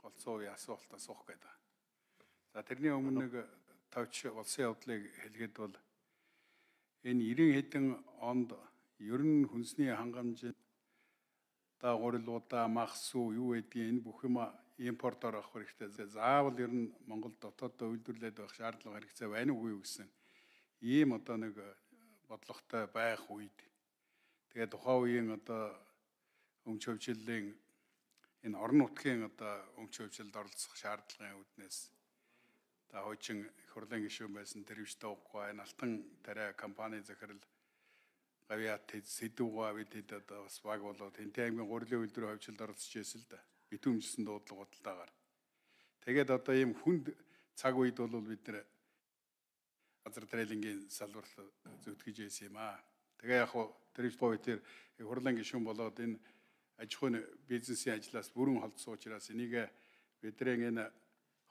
голцоо үе асуулт асуух гэдэг. За тэрний өмнө нэг товч улсын явдлыг хэлгээд бол энэ 90 хэдэн онд ер нь хүнсний хангамж дагуурлуудаа махсуу юу гэдгийг энэ бүх юм импортоор авах хэрэгтэй. Заавал ер нь Монгол дотооддоо үйлдвэрлээд байх шаардлага хэрэгцээ байна уугүй юу гэсэн ийм одоо нэг бодлоготой байх үед тэгээд тухайн үеийн одоо өмч хөвчлөлийн энэ орон нутгийн одоо өмч хөвчлөлд оролцох шаардлагын үүднээс та хуучин их хурлын гишүүн байсан тэрвчтэй уггүй энэ алтан тариа компани захирал гавьяат сэдвгаа бид одоо бас баг болоод Хэнтэй аймгийн гурилын үйлдвэрийн хөвчлөлд оролцож байсан л да. Битүүмжсэн дуудлага бодлогоор. Тэгээд одоо ийм хүнд цаг үед бол бид нэр газар трейлингийн салбарт зүтгэж байсан юм аа. Тэгээ яг хуу тэрвчтэй тэр их хурлын гишүүн болоод энэ аж ахуйн бизнесийн ажлаас бүрэн холдсон учраас энийг бидний энэ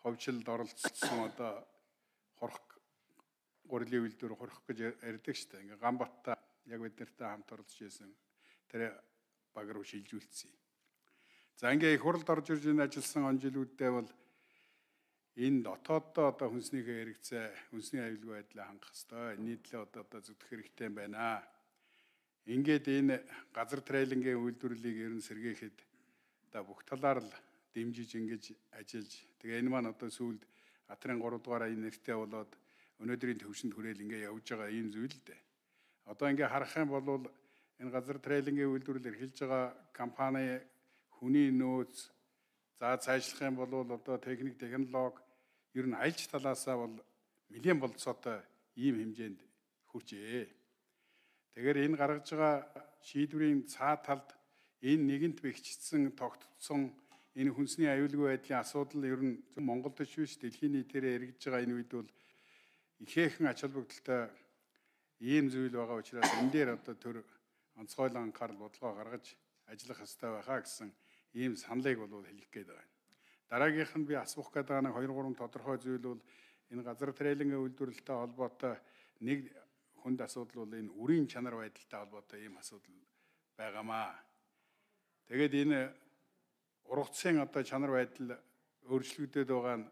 ховчлолд оролцсон одоо хорох гурилын үйлдвэр хорох гэж ярьдаг шүү дээ. Ингээ Гамбатта яг бид нартай хамт оролцож байсан тэр баг руу шилжүүлсэн. За ингээ их хурлд орж ирж энэ ажилласан он жилүүддээ бол энэ дотооддоо одоо хүнснийхээ хэрэгцээ, хүнсний аюулгүй байдлаа хангах хэрэгтэй. Нийтлээ одоо зүтгэх хэрэгтэй байна. Ингээд энэ газар трейлингийн үйлдвэрлэлийг ер нь сэргээхэд одоо бүх талаар л дэмжиж ингэж ажиллаж тэгээ энэ маань одоо сүүлд Атрын 3 дугаараа энэ нэртэй болоод өнөөдрийн төвшөнд хүрээл ингээ явж байгаа ийм зүйл л дээ. Одоо ингээ харах юм бол энэ газар трейлингийн үйлдвэрлэл эрхэлж байгаа компани хүний нөөц за цаашлах юм бол одоо техник технологи ер нь альж талаасаа бол нэлээд болцоотой ийм хэмжээнд хүрчээ. Тэгэхээр энэ гаргаж байгаа шийдвэрийн цаа талд энэ нэгэнт бэхжигдсэн тогтцсон энэ хүнсний аюулгүй байдлын асуудал ер нь Монголд ч биш дэлхийн нийтээр эргэж байгаа энэ үед бол ихээхэн ач холбогдолтой ийм зүйл байгаа учраас энэ дээр одоо төр онцгойлон анхаарал бодлого гаргаж ажиллах хэрэгтэй байхаа гэсэн ийм саналыг бол хэлэх гээд байна. Дараагийнх нь би асуух гээд байгаа нэг 2-3 тодорхой зүйл бол энэ газар трейлингийн үйлдвэрлэлтэй холбоотой нэг хүнд асуудал бол энэ үрийн чанар байдалтай холбоотой ийм асуудал байгаамаа. Тэгээд энэ ургацын одоо чанар байдал өөрчлөгдөд байгаа нь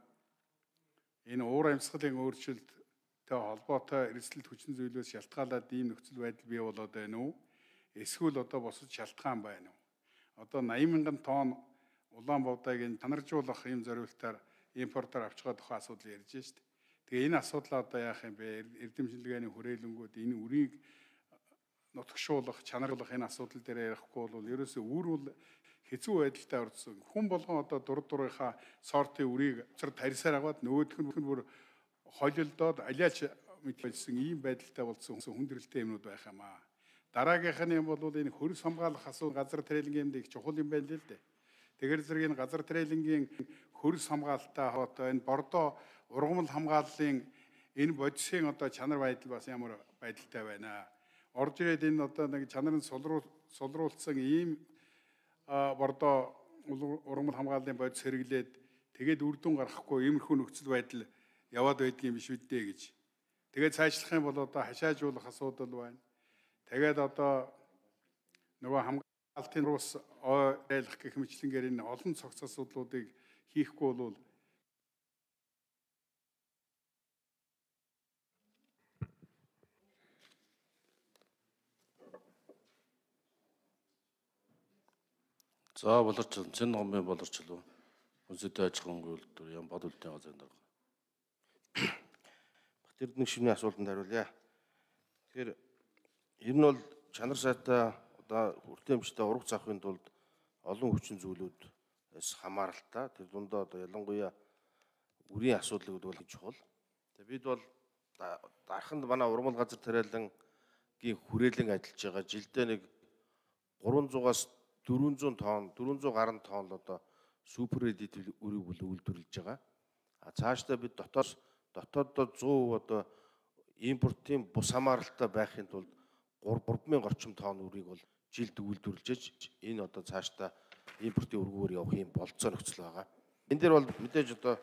энэ уур амьсгалын өөрчлөлттэй холбоотой эрсдэлт хүчин зүйлээс шалтгаалаад ийм нөхцөл байдал бий болоод байна уу? Эсвэл одоо босож шалтгаан байна уу? Одоо 80,000 тонн улаан буудайг энэ чанаржуулах ийм зорилтоор импортоор авч байгаа тухайн асуудал ярьж штэ. Тэгээ энэ асуудлаа одоо яах юм бэ? Эрдэмшилгээний хүрээлэнгүүд энэ үрийг нутагшуулах, чанаруулах энэ асуудал дээр ярихгүй бол ерөөсөө үр бол хэцүү байдалтай орсон. Хүн болгон одоо дурынхаа сортын үрийг цар тарьсаар аваад нөгөөх нь бүр холилдоод алиач мэдсэн ийм байдалтай болсон хүндрэлтэй юмнууд байх юм аа. Дараагийнх нь юм бол энэ хөрс хамгаалах асуудал газар трейлингийн их чухал юм байна л дээ. Тэгэхээр зэрэг энэ газар трейлингийн хөрс хамгаалалтаа одоо энэ бордоо ургамал хамгааллын энэ бодисын одоо чанар байдал бас ямар байдалтай байна. Орж ирээд энэ одоо нэг чанарын сулруулсан ийм бордоо ургамал хамгааллын бодис хэрэглээд тэгээд үр дүн гаргахгүй иймэрхүү нөхцөл байдал яваад байдгийн биш үддээ гэж. Тэгээд цаашлах юм бол одоо хашаажуулах асуудал байна. Тэгээд одоо нөгөө хамгаалтын рус ойлох гэх мэтлэнгээр энэ олон цогц асуудлуудыг хийхгүй бол за болорч цэн номын болорчлоо. Үнсэтэй аж ахуйн үйлдвэр ям бод үлдээ газар дарга. Бат Эрдэнэ шивний асуултанд хариулъя. Тэгэхээр ер нь бол чанар сайтай одоо хүртээмжтэй ургац авахын тулд олон хүчин зүйлүүдээс хамааралтай. Тэр дундаа одоо ялангуяа үрийн асуудлыг бол чухал. Тэгээ бид бол дарханд манай урмал газар тариалангийн хүрээлэн ажиллаж байгаа жилдээ нэг 300-аас 400 тонн 400 гаруй тонн л одоо супер эдит үрийг үйлдвэрлэж байгаа. А цаашдаа бид дотооддоо 100% одоо импортын бус хамааралтай байхын тулд 3000 орчим тонн үрийг бол жилд үйлдвэрлэж энэ одоо цаашдаа импортын өргөөр явах юм болцоо нөхцөл байгаа. Энэ дээр бол мэдээж одоо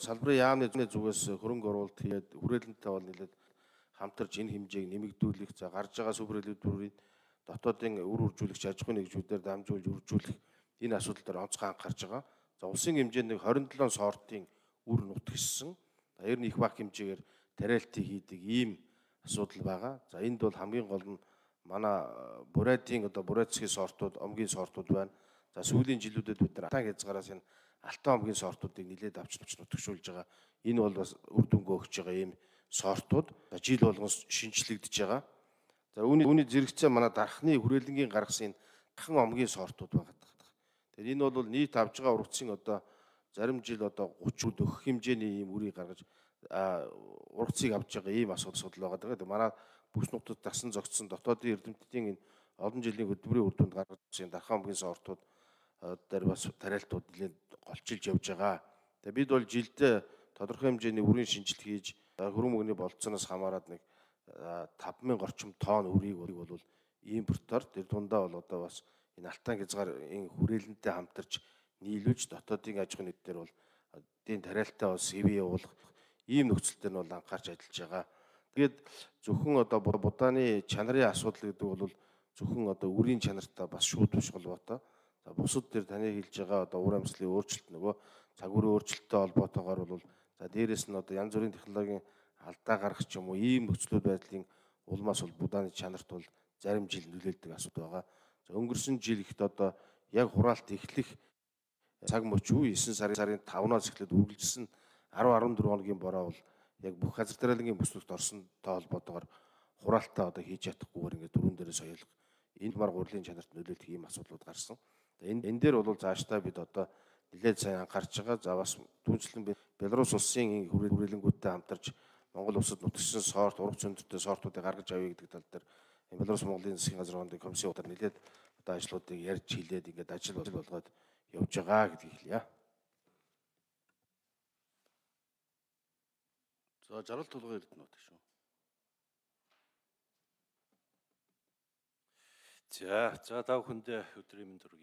салбарын яамны зүгээс хөрөнгө оруулалт хийгээд хүрээлэнтэй бол нэлээд хамтарч энэ хэмжээг нэмэгдүүлэх за гарч байгаа супер үйлдвэрийн дотоодын үр үржүүлэгч аж ахуйн нэгжүүдээр дамжуулж үржүүлэх энэ асуудал дээр онцгой анхаарч байгаа. За улсын хэмжээнд нэг 27 сортын үр нутгшсан. Ер нь их баг хэмжээгээр тариалтыг хийдэг ийм асуудал байгаа. За энд бол хамгийн гол нь манай бурайдын одоо бурайцгийн сортууд, омгийн сортууд байна. За сүүлийн жилүүдэд бид нар атан хязгаараас энэ алтан омгийн сортуудыг нэлээд авч нутгшуулж байгаа. Энэ бол бас үр дүнгээ өгч байгаа ийм сортууд. За жил болгон шинжлэгдэж байгаа. За үүний зэрэгцээ манай дархны хүрээлэнгийн гаргасан энэ дархан омгийн сортууд байгаа. Тэгэхээр энэ бол нийт авж байгаа ургацын одоо зарим жил одоо 30-д өгөх хэмжээний ийм үрийг гаргаж ургацыг авж байгаа ийм асуудал байгаа. Тэгээд манай бүс нутагт дасан зогтсон дотоодын эрдэмтдийн энэ олон жилийн хөдөлмөрийн үр дүнд гаргаж ирсэн дархан омгийн сортууд дээр бас тариалтууд нэлээд голчилж явж байгаа. Тэгээд бид бол жилдээ тодорхой хэмжээний үрийн шинжилт хийж хөрөн мөгний болцооноос хамаарат нэг 5000 орчим тонн үрийг бол импортоор тэр дундаа бол одоо бас энэ алтан хязгаар энэ хүрээлэнтэй хамтарч нийлүүлж дотоодын аж ахуйн нийтээр бол эдийн тариалтай бас хэвээ явуулах ийм нөхцөлтөр нь бол анхаарч ажиллаж байгаа. Тэгээд зөвхөн одоо будааны чанарын асуудал гэдэг бол зөвхөн одоо үрийн чанартай бас шууд биш холбоотой. За бусад дээр таны хэлж байгаа одоо ур амьсгалын өөрчлөлт нөгөө цаг үеийн өөрчлөлттэй холбоотойгоор бол за дээрэс нь одоо янз бүрийн технологийн алдаа гарах ч юм уу ийм нөхцөлүүд байдлын улмаас бол будааны чанарт бол зарим жил нөлөөлдөг асуудал байгаа. За өнгөрсөн жил ихт одоо яг хураалт эхлэх цаг мөч үе 9 сарын 5-наас эхлээд үргэлжилсэн 10-14 хоногийн бороо бол яг бүх газар тариалангийн бүсгүйт орсонтой холбоотойгоор хураалтаа одоо хийж чадахгүйгээр ингээд дөрүүн дээрээ соёлох энэ мар гурилын чанарт нөлөөлөх ийм асуудлууд гарсан. Энэ дээр бол цаашдаа бид одоо нэлээд сайн анхаарч байгаа. За бас түүнчлэн Беларусь улсын хүрээлэнгүүдтэй хамтарч Монгол улсад нутагшсан сорт, ургац өндөртэй сортуудыг гаргаж авъя гэдэг тал дээр Беларусь Монголын засгийн газрын хоорондын комиссиудаар нэлээд одоо ажлуудыг ярьж хилээд ингээд ажил болгоод явж байгаа гэдгийг хэлье. За жаргал тулгын эрдэнэт шүү. За та бүхэндээ өдрийн мэнд хүргэе.